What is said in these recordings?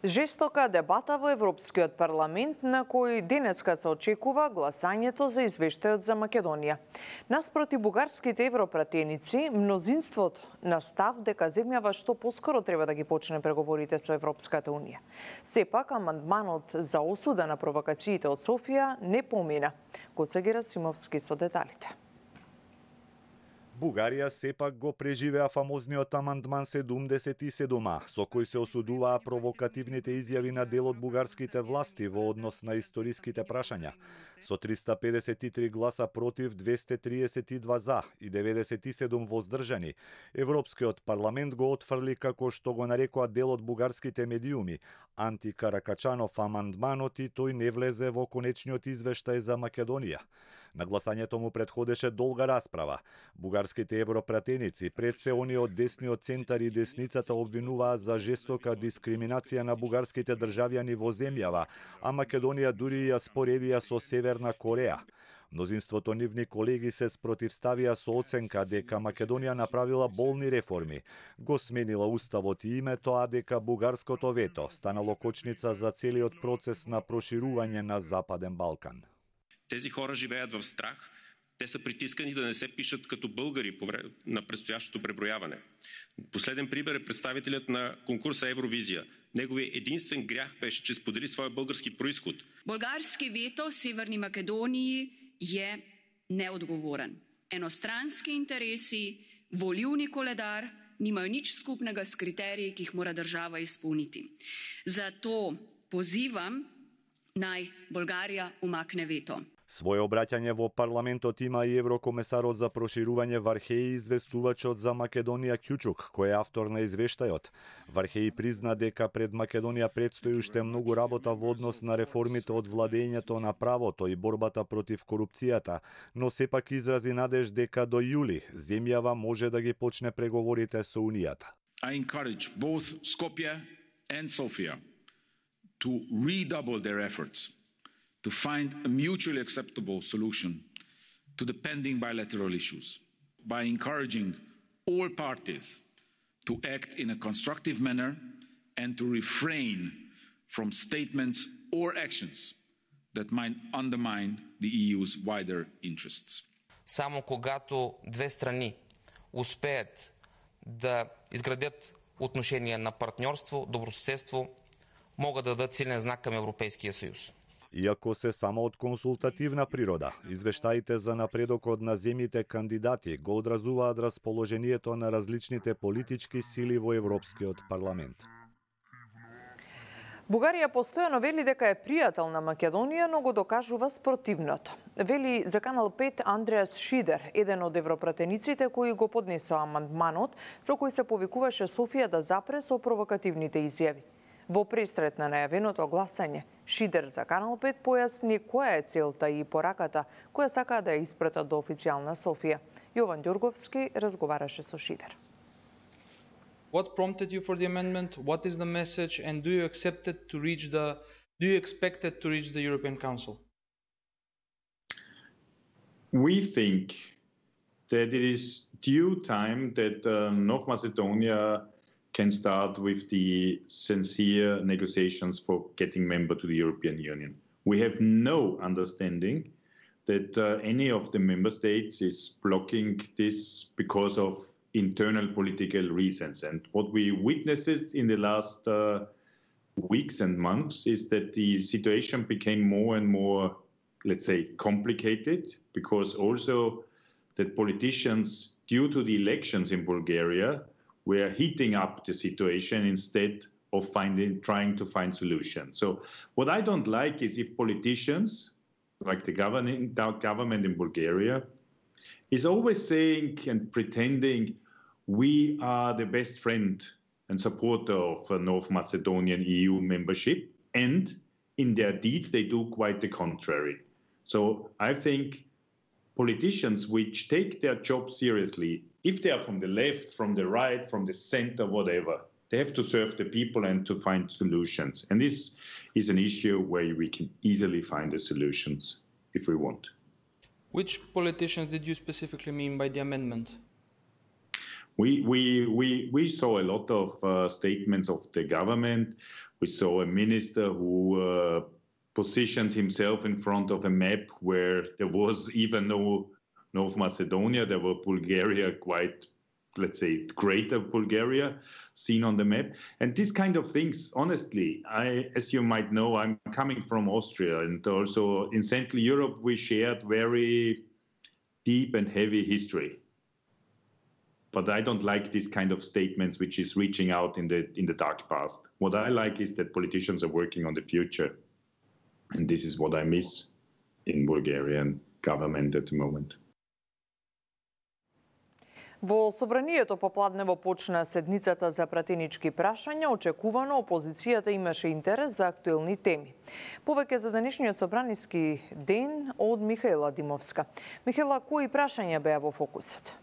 Жестока дебата во Европскиот парламент на кој денеска се очекува гласањето за извештајот за Македонија. Наспроти бугарските европратеници, мнозинството на став дека земјава што поскоро треба да ги почне преговорите со Европската Унија. Сепак, амандманот за осуда на провокациите од Софија не помина. Гоце Герасимовски со деталите. Бугарија сепак го преживеа фамозниот амандман 77, со кој се осудуваа провокативните изјави на дел од бугарските власти во однос на историските прашања. Со 353 гласа против, 232 за и 97 воздржани, Европскиот парламент го отфрли како што го нарекоа дел од бугарските медиуми, Анти Каракачанов амандманот и тој не влезе во конечниот извештај за Македонија. На гласањето му предходеше долга расправа. Бугарските европратеници, пред се они од десниот центар и десницата, обвинуваа за жестока дискриминација на бугарските државјани во земјава, а Македонија дури ја споредија со Северна Кореја. Мнозинството нивни колеги се спротивставија со оценка дека Македонија направила болни реформи, го сменила уставот и името, а дека бугарското вето станало кочница за целиот процес на проширување на Западен Балкан. Тези хора живеят в страх. Те са притискани да не се пишат като българи на предстоящото преброяване. Последен пример е представителят на конкурса Евровизия. Неговият единствен грях беше, че сподели своя български происход. Болгарски вето в Северни Македонiji je neodgovoren. Enostranski interesi, volilni koledar nimajo nič skupnega s kriteriji, ki jih mora država izpolniti. Zato pozivam naj Bolgarija umakne veto. Своје обраќање во парламентот има и еврокомесарот за проширување Вархеи, известувачот за Македонија Кјучук, кој е автор на извештајот. Вархеи призна дека пред Македонија предстои уште многу работа во однос на реформите од владењето на правото и борбата против корупцијата, но сепак изрази надеж дека до јули земјава може да ги почне преговорите со Унијата. I encourage both Skopje and Sofia to redouble their efforts to find a mutually acceptable solution to the pending bilateral issues by encouraging all parties to act in a constructive manner and to refrain from statements or actions that might undermine the EU's wider interests. Само когато две страни успеят да изградят отношения на партньорство, добросъседство, могат да дадат силен знак към Европейския съюз. Иако се само од консултативна природа, извештаите за напредокот на земјите кандидати го одразуваат расположението на различните политички сили во Европскиот парламент. Бугарија постојано вели дека е пријател на Македонија, но го докажува спротивното. Вели за Канал 5 Андреас Шидер, еден од европратениците кои го поднесоа амандманот, со кој се повикуваше Софија да запре со провокативните изјави. Во пресрет на најавеното гласање, Шидер за Канал 5 појасни која е целта и пораката која сакаа да ја испратат до официјална Софија. Јован Ѓурговски разговараше со Шидер. What prompted you for the amendment? What is the message? And do you expect it to reach the European Council? We think that it is due time that North Macedonia can start with the sincere negotiations for getting member to the European Union. We have no understanding that any of the member states is blocking this because of internal political reasons. And what we witnessed in the last weeks and months is that the situation became more and more, let's say, complicated, because also that politicians, due to the elections in Bulgaria, were heating up the situation instead of trying to find solutions. So what I don't like is if politicians, like the government in Bulgaria, is always saying and pretending we are the best friend and supporter of North Macedonian EU membership, and in their deeds they do quite the contrary. So I think politicians which take their job seriously, if they are from the left, from the right, from the center, whatever, they have to serve the people and to find solutions. And this is an issue where we can easily find the solutions if we want. Which politicians did you specifically mean by the amendment? We saw a lot of statements of the government. We saw a minister who positioned himself in front of a map where there was even no North Macedonia. There were Bulgaria, quite, let's say, greater Bulgaria seen on the map. And these kind of things, honestly, as you might know, I'm coming from Austria, and also in Central Europe, we shared very deep and heavy history. But I don't like this kind of statements which is reaching out in the dark past. What I like is that politicians are working on the future. And this is what I miss in Bulgarian government at the moment. Во собранието попладнево почна седницата за пратенички прашања. Очекувано опозицијата имаше интерес за актуелни теми. Повеќе за денешниот собраниски ден од Михаела Димовска. Михаела, кои прашања беа во фокусот?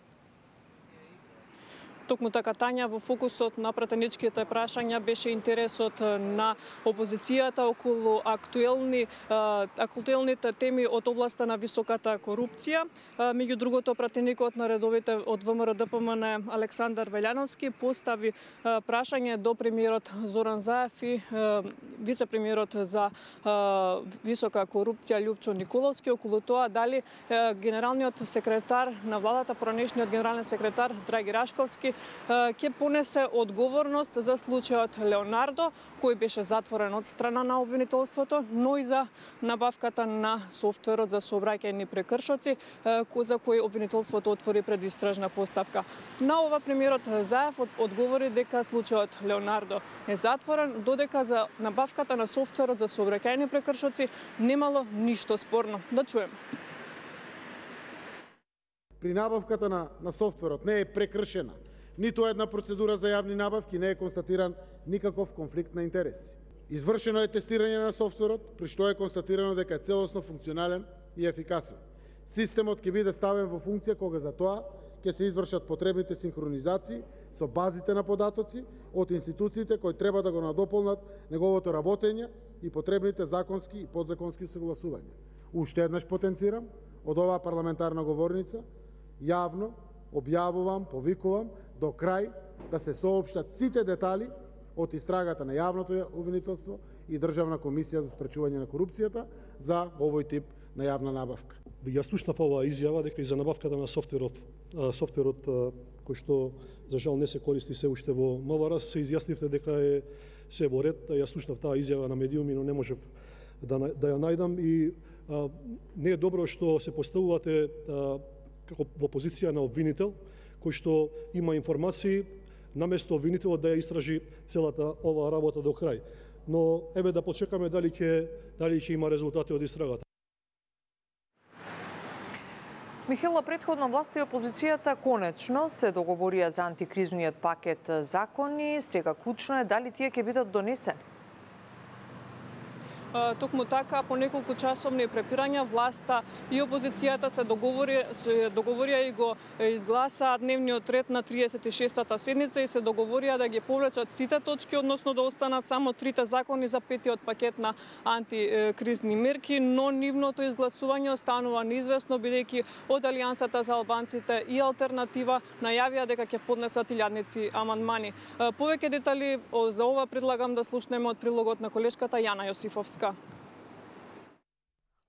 Токму така, Тања, во фокусот на пратеничките прашања беше интересот на опозицијата околу актуелните теми од областа на високата корупција. Меѓу другото, пратеникот на редовите од ВМРО ДПМН Александар Велјановски постави прашање до премиерот Зоран Заев и вице-премиерот за висока корупција Љупчо Николовски околу тоа дали генералниот секретар на владата, поранешниот генерален секретар Драги Рашковски ќе понесе одговорност за случајот Леонардо, кој беше затворен од страна на обвинителството, но и за набавката на софтверот за сообраќајни прекршоци, за кој обвинителството отвори предистражна постапка. На ова премиерот Заев одговори дека случајот Леонардо е затворен, додека за набавката на софтверот за сообраќајни прекршоци немало ништо спорно. Да чуеме. При набавката на софтверот не е прекршена ниту една процедура за јавни набавки, не е констатиран никаков конфликт на интереси. Извршено е тестирање на софтверот, при што е констатирано дека е целосно функционален и ефикасен. Системот ќе биде ставен во функција кога за тоа ќе се извршат потребните синхронизации со базите на податоци од институциите кои треба да го надополнат неговото работење и потребните законски и подзаконски согласувања. Уште еднаш потенцирам од оваа парламентарна говорница јавно објавувам, повикувам до крај да се соопштат сите детали од истрагата на јавното обвинителство и Државна комисија за спречување на корупцијата за овој тип на јавна набавка. Јас слушнав оваа изјава дека и за набавката на софтверот кој што за жал не се користи се уште во МВР, се изјаснивте дека се во ред. Јас слушнав таа изјава на медиуми, но не можев да ја најдам и не е добро што се поставувате како во позиција на обвинител кој што има информации, наместо обвинителот да ја истражи целата оваа работа до крај. Но еве да почекаме дали ќе има резултати од истрагата. Михела, претходно власти и опозицијата конечно се договорија за антикризниот пакет закони. Сега клучно е дали тие ќе бидат донесени. Токму така, по неколку часовни препирања, власта и опозицијата се договорија и го изгласаа дневниот ред на 36-та седница и се договорија да ги повлечат сите точки, односно да останат само 3 закони за 5-тиот пакет на антикризни мерки, но нивното изгласување останува неизвестно, бидејќи од Алијансата за албанците и Алтернатива најавија дека ќе поднесат илјадници амандмани. Повеќе детали за ова предлагам да слушнеме од прилогот на колешката Јана Јосифовска.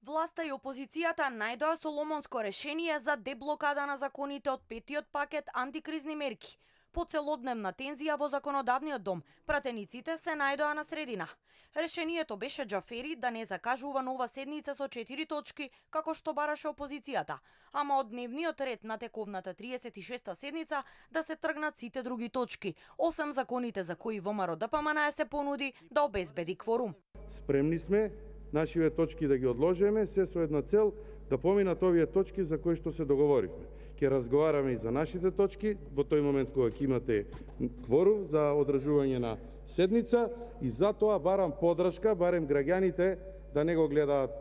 Власта и опозицијата најдоа соломонско решение за деблокада на законите од 5-тиот пакет антикризни мерки. По целодневна тензија во законодавниот дом, пратениците се најдоа на средина. Решението беше Џафери да не закажува нова седница со 4 точки, како што бараше опозицијата, ама од дневниот ред на тековната 36-та седница да се тргнат сите други точки, осем законите за кои ВМРО ДПМН се понуди да обезбеди кворум. Спремни сме нашиве точки да ги одложиме, се со една цел да поминат овие точки за кои што се договоривме. Ќе разговараме и за нашите точки во тој момент кога ќе имате кворум за одржување на седница и затоа барам подршка, барем граѓаните да не го гледаат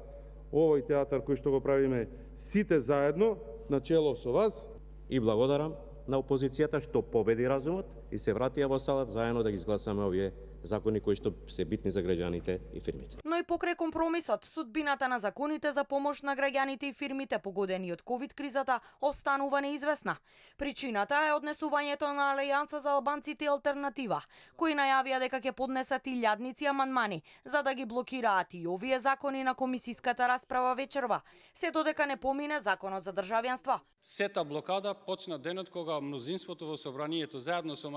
овој театар кој што го правиме сите заедно, начело со вас. И благодарам на опозицијата што победи разумот и се вратија во салата заедно да ги изгласаме овие закони кои што се битни за граѓаните и фирмите. Но и покрај компромисот, судбината на законите за помош на граѓаните и фирмите погодени од ковид кризата останува неизвестна. Причината е однесувањето на Алијанса за албанците и Алтернатива, кои најавија дека ќе поднесат илјадници амандмани за да ги блокираат и овие закони на комисиската расправа вечерва, се додека не помине законот за државјанство. Сета блокада почна денот кога мнозинството во собранието заедно со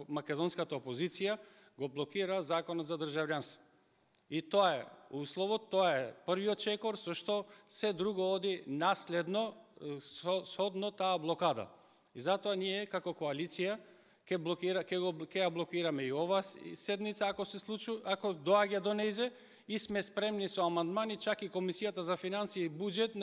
македонската опозиција го блокира законот за државјанство. И тоа е условот, тоа е првиот чекор со што се друго оди наследно содно таа блокада. И затоа ние како коалиција ќе ја блокираме и ова седница ако се случи, ако доаѓа до неизе, и сме спремни со амандмани, чак и Комисијата за финансии и буџет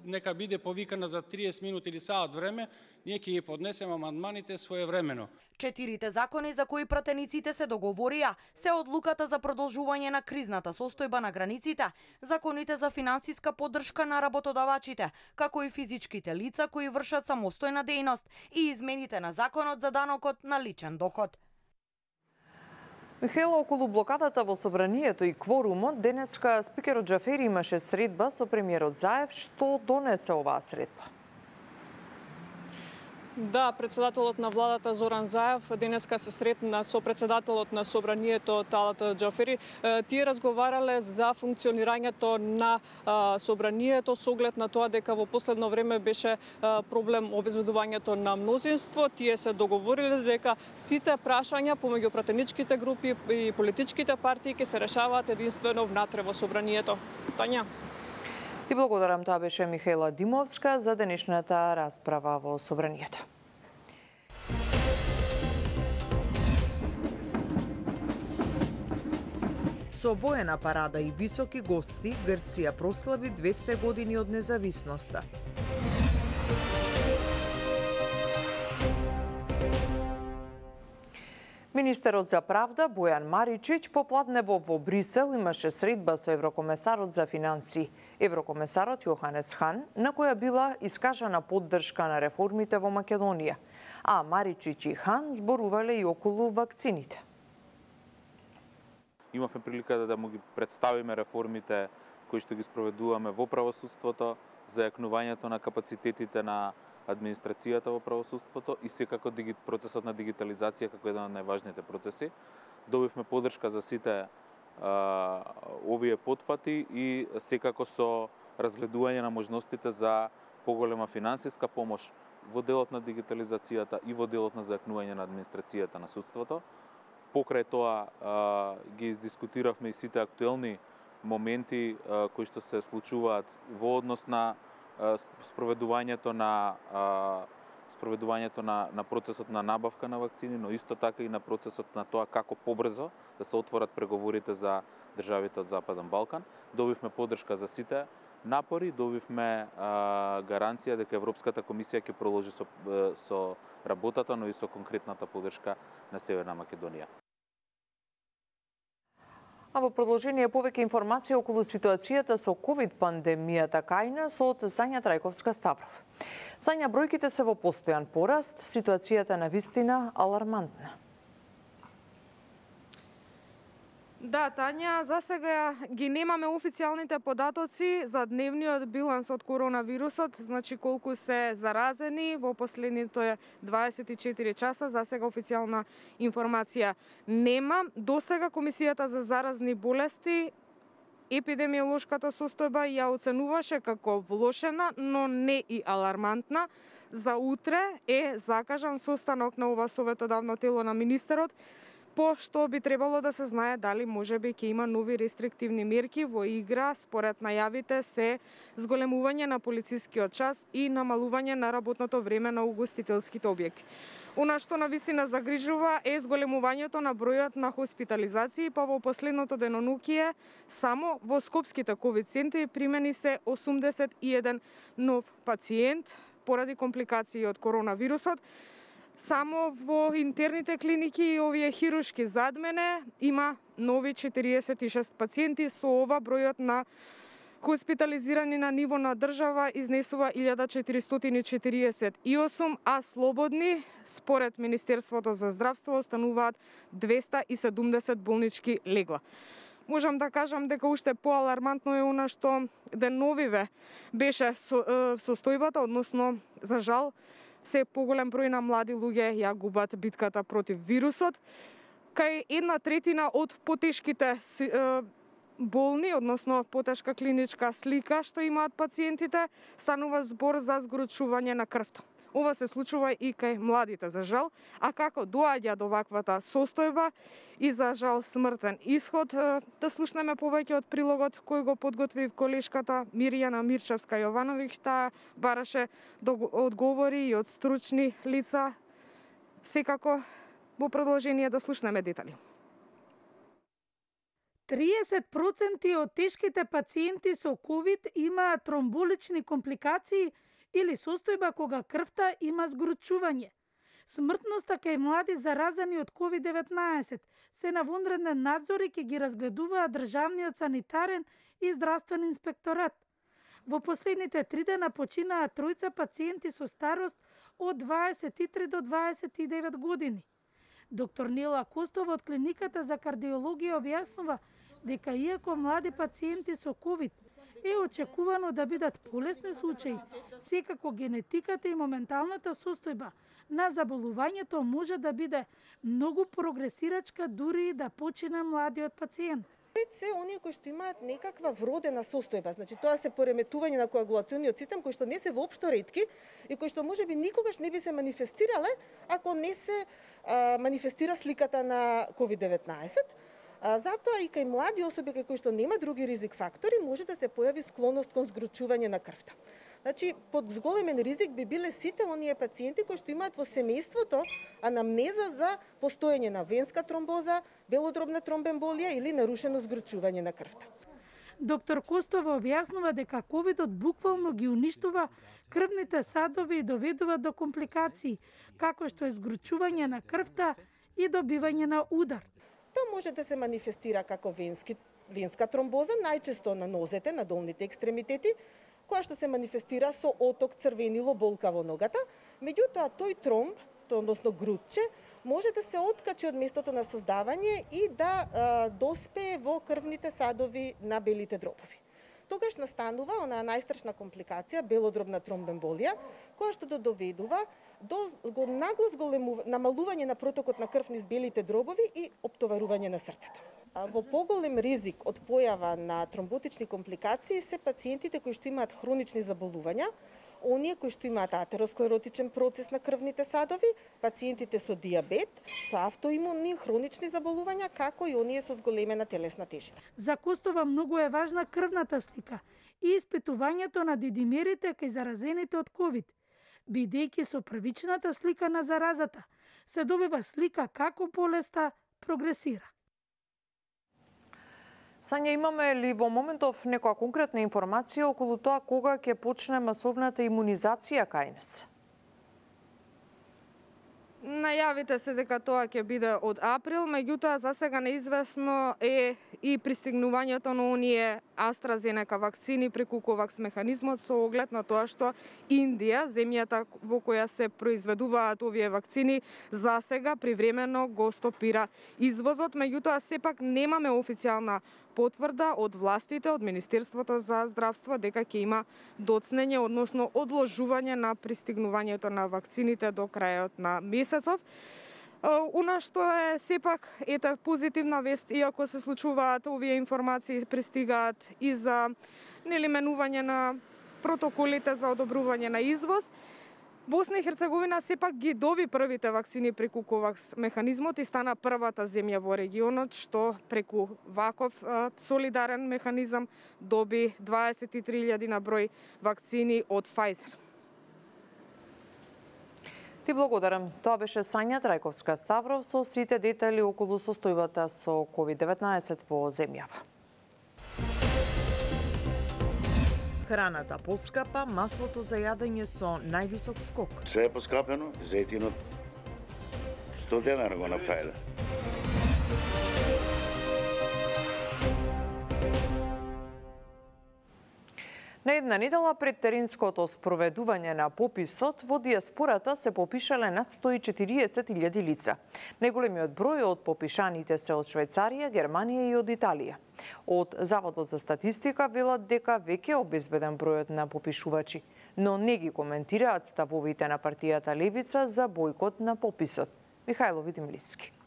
нека биде повикана за 30 минути или саат време, ние ќе ги поднесеме амандманите своевремено. 4 закони за кои пратениците се договорија се одлуката за продолжување на кризната состојба на границите, законите за финансиска поддршка на работодавачите, како и физичките лица кои вршат самостојна дејност и измените на законот за данокот на личен доход. Михаела, околу блокадата во собранието и кворумот, денеска спикерот Џафери имаше средба со премиерот Заев. Што донесе оваа средба? Да, председателот на владата Зоран Заев денеска се сретна со председателот на собранието Талат Џафери. Тие разговарале за функционирањето на собранието со оглед на тоа дека во последно време беше проблем обезбедувањето на мнозинство. Тие се договориле дека сите прашања помеѓу пратеничките групи и политичките партии ќе се решаваат единствено внатре во собранието. Тања. Ти благодарам, тоа беше Михаела Димовска за денешната расправа во собранието. Со воена парада и високи гости, Грција прослави 200 години од независноста. Министерот за правда Бојан Маричич попладнево во Брисел имаше средба со еврокомесарот за финансии, еврокомесарот Јоханес Хан, на која била искажана поддршка на реформите во Македонија. А Маричич и Хан зборувале и околу вакцините. Имавме прилика да му ги представиме реформите кои што ги спроведуваме во правосудството, зајакнувањето на капацитетите на администрацијата во правосудството и секако процесот на дигитализација како еден од најважните процеси. Добивме поддршка за сите овие потфати и секако со разгледување на можностите за поголема финансиска помош во делот на дигитализацијата и во делот на зајакнување на администрацијата на судството. Покрај тоа ги издискутиравме и сите актуелни моменти кои што се случуваат во однос на спроведувањето на процесот на набавка на вакцини, но исто така и на процесот на тоа како побрзо да се отворат преговорите за државите од Западен Балкан. Добивме поддршка за сите напори, добивме гаранција дека Европската комисија ќе продолжи со работата, но и со конкретната поддршка на Северна Македонија. А во продолжение повеќе информација околу ситуацијата со ковид пандемијата кај нас од Сања Трајковска Ставров. Сања, бројките се во постојан пораст, ситуацијата на вистина алармантна. Да, Тања, за сега ги немаме официјалните податоци за дневниот биланс од коронавирусот, значи колку се заразени во последните 24 часа, за сега официјална информација нема. До сега Комисијата за заразни болести епидемиолошката состојба ја оценуваше како влошена, но не и алармантна. За утре е закажан состанок на ова советодавно тело на министерот, по што би требало да се знае дали можеби ќе има нови рестриктивни мерки. Во игра, според најавите, се зголемување на полицискиот час и намалување на работното време на угостителските објекти. Она што навистина загрижува е зголемувањето на бројот на хоспитализации, па во последното денонукие само во скопските ковид центри примени се 81 нов пациент поради компликации од коронавирусот. Само во интерните клиники и овие хируршки зад мене има нови 46 пациенти. Со ова бројот на Хоспитализирани на ниво на држава изнесува 1448, а слободни, според Министерството за здравство, остануваат 270 болнички легла. Можам да кажам дека уште поалармантно е она што деновиве беше состојбата, односно, за жал, се поголем број на млади луѓе ја губат битката против вирусот. Кај 1/3 од потешките болни, односно потешка клиничка слика што имаат пациентите, станува збор за згорчување на крвта. Ова се случува и кај младите, за жал, а како доаѓа до ваквата состојба и за жал смртен исход, да слушнеме повеќе од прилогот кој го подготви колешката Мирјана Мирчевска-Јовановиќ, таа бараше да одговори и од стручни лица. Секако во продолжение да слушнеме детали. 30% од тешките пациенти со ковид имаат тромболични компликации или состојба кога крвта има згорчување. Смртноста кај млади заразени од COVID-19 се на вонреден надзор и ќе ги разгледуваат државниот санитарен и здравствен инспекторат. Во последните 3 дена починаа 3 пациенти со старост од 23 до 29 години. Доктор Нела Костова од клиниката за кардиологија објаснува дека иако млади пациенти со ковид е очекувано да бидат полесни случаи, секако генетиката и моменталната состојба на заболувањето може да биде многу прогресирачка дури и да почине младиот пациент. Пред се оние кои што имаат некаква вродена состојба, значи тоа се пореметување на коагулациониот систем кои што не се воопшто ретки и кои што можеби никогаш не би се манифестирале ако не се манифестира сликата на COVID-19. Затоа и кај млади особи кои што нема други ризик фактори може да се појави склоност кон згручување на крвта. Значи, под зголемен ризик би биле сите оние пациенти кои што имаат во семејството анамнеза за постоење на венска тромбоза, белодробна тромбемболија или нарушено згручување на крвта. Доктор Костова објаснува дека ковидот буквално ги уништува крвните садови и доведува до компликации, како што е згручување на крвта и добивање на удар. Тоа може да се манифестира како венска тромбоза, најчесто на нозете, на долните екстремитети, која што се манифестира со оток црвенило болка во ногата. Меѓутоа, тој тромб, односно грудче, може да се откачи од местото на создавање и да доспее во крвните садови на белите дробови. Тогаш настанува онаа најстрашна компликација, белодробна тромбемболија, која што доведува до нагло намалување на протокот на крв низ белите дробови и оптоварување на срцето. Во поголем ризик од појава на тромботични компликации се пациентите кои што имаат хронични заболувања, оние кои што имаат атеросклеротичен процес на крвните садови, пациентите со диабет, со автоимунни хронични заболувања, како и оние со зголемена телесна тежина. За Костова многу е важна крвната слика и испитувањето на дидимерите кај заразените од ковид, бидејќи со првичната слика на заразата се добива слика како болеста прогресира. Сања, имаме ли во моментов некоја конкретна информација околу тоа кога ќе почне масовната имунизација кај нас? Најавите се дека тоа ќе биде од април, меѓутоа за сега неизвестно е и пристигнувањето на оние AstraZeneca вакцини преку COVAX механизмот со оглед на тоа што Индија, земјата во која се произведуваат овие вакцини, за сега привремено го стопира извозот, меѓутоа сепак немаме официјална потврда од властите, од Министерството за здравство дека ќе има доцнење, односно одложување на пристигнувањето на вакцините до крајот на месецов. Она што е сепак ете позитивна вест, иако се случуваат овие информации пристигаат и за менување на протоколите за одобрување на извоз. Босна и Херцеговина сепак ги доби првите вакцини преку COVAX механизмот и стана првата земја во регионот што преку ваков солидарен механизам доби 23.000 на број вакцини од Pfizer. Ти благодарам. Тоа беше Сања Трајковска-Ставров со сите детали околу состојбата со COVID-19 во земјава. Храната поскапа, маслото за јадење со највисок скок. Све е поскапено, зејтинот 100 денара го направиле. Една недела пред теренското спроведување на пописот, во диаспората се попишале над 140.000 лица. Најголемиот број од попишаните се од Швајцарија, Германија и од Италија. Од Заводот за статистика велат дека веќе обезбеден бројот на попишувачи, но не ги коментираат ставовите на партијата Левица за бојкот на пописот. Михајло Видимлиски.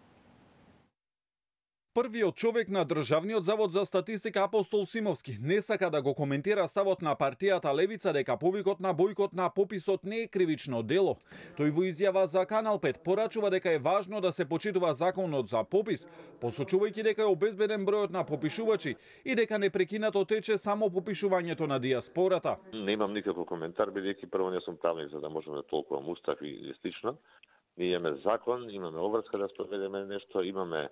Првиот човек на Државниот завод за статистика Апостол Симовски не сака да го коментира ставот на партијата Левица дека повикот на бојкот на пописот не е кривично дело. Тој во изјава за Канал 5 порачува дека е важно да се почитува законот за попис, посочувајќи дека е обезбеден бројот на попишувачи и дека непрекинато тече само попишувањето на диаспората. Немам никаков коментар, бидејќи прво не сум правник за да можеме да толкувам устав и слично. Ние имаме закон, имаме обврска да спроведеме нешто, имаме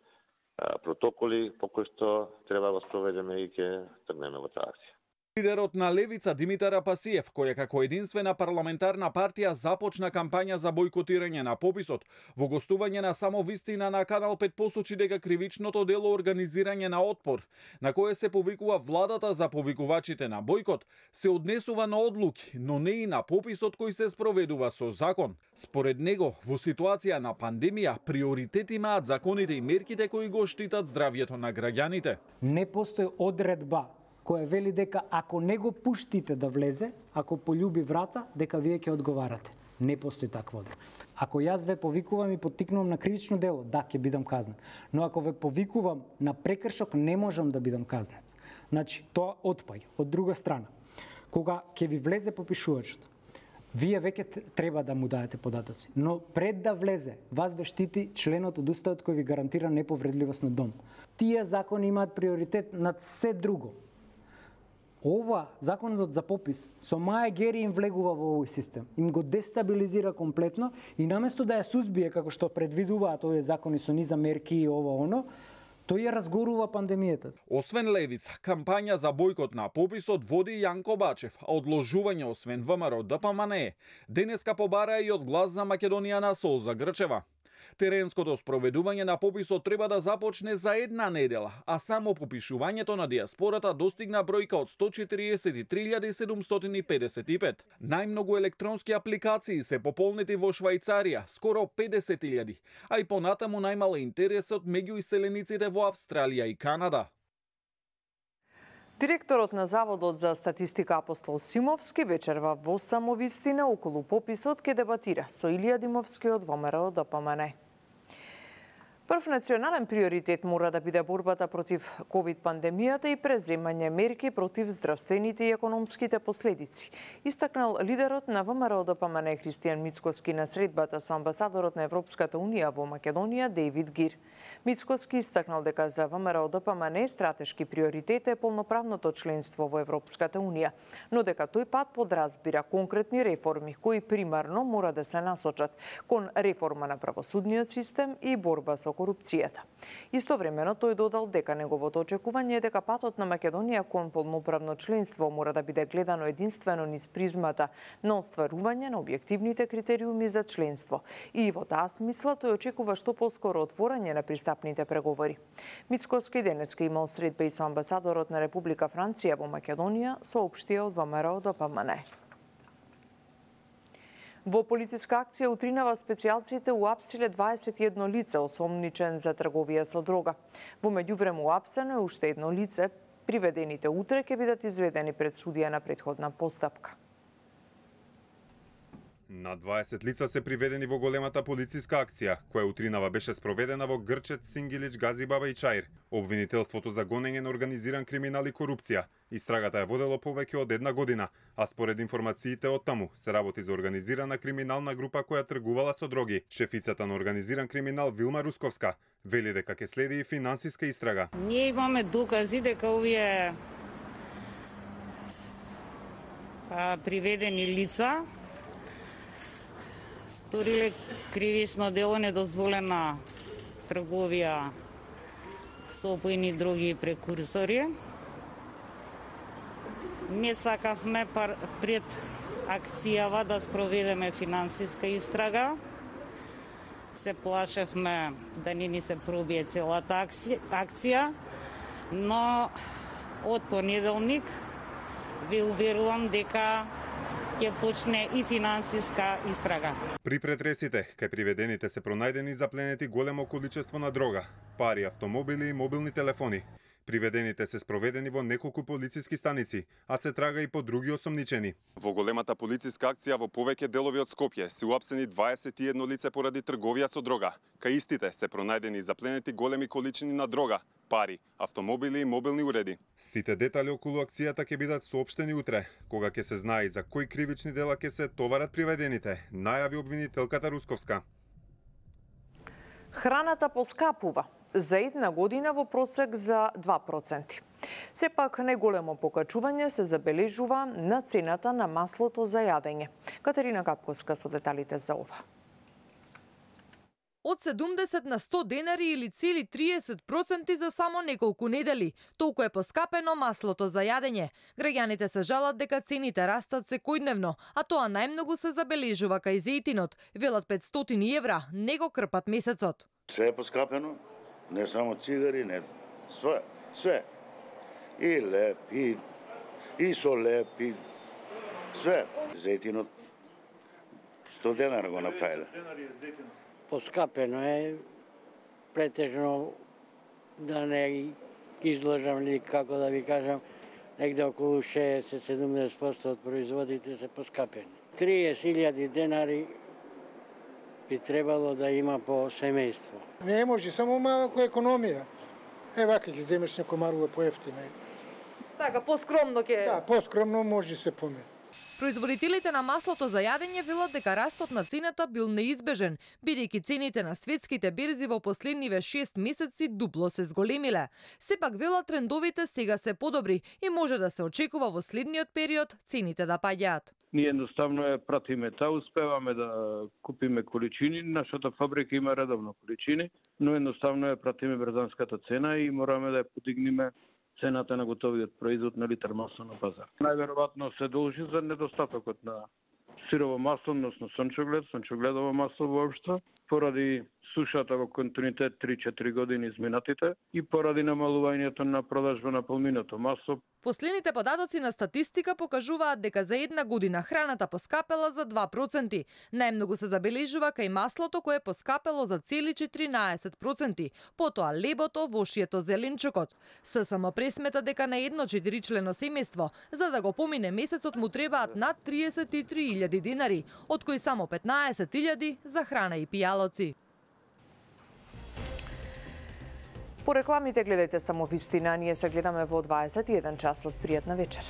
протоколи по кои што треба да спроведеме и ќе тргнеме во таа акција. Лидерот на Левица Димитар Апасиев, која како единствена парламентарна партија започна кампања за бојкотирање на пописот, во гостување на Само вистина на Канал 5 посочи дека кривичното дело организирање на отпор, на кое се повикува владата за повикувачите на бојкот, се однесува на одлуки, но не и на пописот кој се спроведува со закон. Според него, во ситуација на пандемија, приоритет имаат законите и мерките кои го штитат здравјето на граѓаните. Не постои одредба која вели дека ако не го пуштите да влезе, ако полюби врата, дека вие ќе одговарате. Не постои таква одредба. Ако јас ве повикувам и поттикнувам на кривично дело, да, ќе бидам казнет. Но ако ве повикувам на прекршок, не можам да бидам казнет. Значи, тоа отпаѓа. Од друга страна, кога ќе ви влезе попишувачот, вие веќе треба да му дадете податоци. Но пред да влезе, вас ве штити членот од Уставот кој ви гарантира неповредливост на дом. Тие закони имаат приоритет над се друго. Ова, законот за попис, со Маја Гери им влегува во овој систем. Им го дестабилизира комплетно и наместо да ја сузбие, како што предвидуваат овие закони со низа мерки и оно, тој ја разгорува пандемијата. Освен Левица, кампања за бојкот на пописот води Јанко Бачев, а одложување освен ВМРО ДПМНЕ. Денеска побара и од Глас за Македонија на Солза Грчева. Теренското спроведување на пописот треба да започне за една недела, а само попишувањето на диаспората достигна бројка од 143.755. Најмногу електронски апликации се пополнети во Швајцарија, скоро 50.000, а и понатаму најмал интересот меѓу иселениците во Австралија и Канада. Директорот на Заводот за статистика Апостол Симовски вечерва во Само вистина околу пописот ке дебатира со Илија Димовски од ВМРО ДПМНЕ. Прв национален приоритет мора да биде борбата против ковид-пандемијата и преземање мерки против здравствените и економските последици. Истакнал лидерот на ВМРО ДПМНЕ Христијан Мицкоски на средбата со амбасадорот на Европската унија во Македонија Дејвид Гир. Мицкоски истакнал дека за ВМРО ДПМНЕ стратешки приоритет е полноправното членство во Европската унија, но дека тој пат подразбира конкретни реформи кои примарно мора да се насочат кон реформа на правосудниот систем и борба со корупцијата. Истовремено тој додал дека неговото очекување е дека патот на Македонија кон полноправно членство мора да биде гледано единствено низ призмата на остварување на објективните критериуми за членство. И во таа смисла тој очекува што поскоро отворање на пристапните преговори. Мицкоски денеска имал средба и со амбасадорот на Република Франција во Македонија, соопштија од ВМРО ДПМНЕ. Во полициска акција утринава специјалците уапсиле 21 лице осомничен за трговија со дрога. Во меѓувреме уапсено е уште едно лице. Приведените утре ќе бидат изведени пред судија на претходна постапка. На 20 лица се приведени во големата полициска акција, која утринава беше спроведена во Грчет, Сингилич, Газибаба и Чаир. Обвинителството за гонење на организиран криминал и корупција. Истрагата ја водело повеќе од една година, а според информациите од таму се работи за организирана криминална група која тргувала со дроги. Шефицата на организиран криминал Вилма Русковска вели дека ќе следи и финансиска истрага. Ние имаме докази дека овие приведени лица сториле кривично дело недозволена трговија со опојни дроги и прекурсори. Не сакавме пред акцијава да спроведеме финансиска истрага. Се плашевме да не ни се пробие целата акција, но од понеделник ви уверувам дека ќе почне и финансиска истрага. При претресите, кај приведените се пронајдени запленети големо количество на дрога, пари, автомобили и мобилни телефони. Приведените се спроведени во неколку полициски станици, а се трага и по други осомничени. Во големата полициска акција во повеќе делови од Скопје се уапсени 21 лице поради трговија со дрога. Кај истите се пронајдени и запленети големи количини на дрога, пари, автомобили и мобилни уреди. Сите детали околу акцијата ќе бидат соопштени утре, кога ќе се знае за кои кривични дела ќе се товарат приведените, најави обвинителката Русковска. Храната поскапува за една година во просек за 2%. Сепак неголемо покачување се забележува на цената на маслото за јадење. Катерина Капковска со деталите за ова. Од 70 на 100 денари или цели 30% за само неколку недели. Толку е поскапено маслото за јадење. Граѓаните се жалат дека цените растат секојдневно, а тоа најмногу се забележува кај зејтинот. Велат 500 евра, не го крпат месецот. Све е поскапено, не само цигари, не све. И леп, и со леп, и све. Зејтинот 100 денара го направиле. Поскапено е, претежно да не излажам или како да ви кажам, негде околу 60-70% од производите се поскапени. 30.000 денари би требало да има по семејство. Не може, само малку економија. Вака ќе земеш некој марло поевтино. Така, поскромно ќе... Да, поскромно може се помени. Производителите на маслото за јадење велат дека растот на цената бил неизбежен, бидејќи цените на светските берзи во последниве 6 месеци дупло се зголемиле. Сепак велат трендовите сега се подобри и може да се очекува во следниот период цените да паѓаат. Ние едноставно ја пратиме таа, успеваме да купиме количини, нашата фабрика има редовно количини, но едноставно ја пратиме брзанската цена и мораме да ја подигнеме цената на готовиот производ на литар масло на пазар. Најверојатно се должи за недостатокот на сирово масло, односно сончогледово масло воопшто, поради сушата во континуитет 3-4 години изминатите и поради намалувањето на продажба на полминото масло. Последните податоци на статистика покажуваат дека за една година храната поскапела за 2%. Најмногу се забележува кај маслото кое поскапело за цели 14%, потоа лебото, вошието, зеленчукот. ССМ пресмета дека на едно 4-члено семејство, за да го помине месецот му требаат над 33.000 денари, од кои само 15.000 за храна и пијалоци. По рекламите гледајте само вистина, ние се гледаме во 21 часот. Пријатна вечер.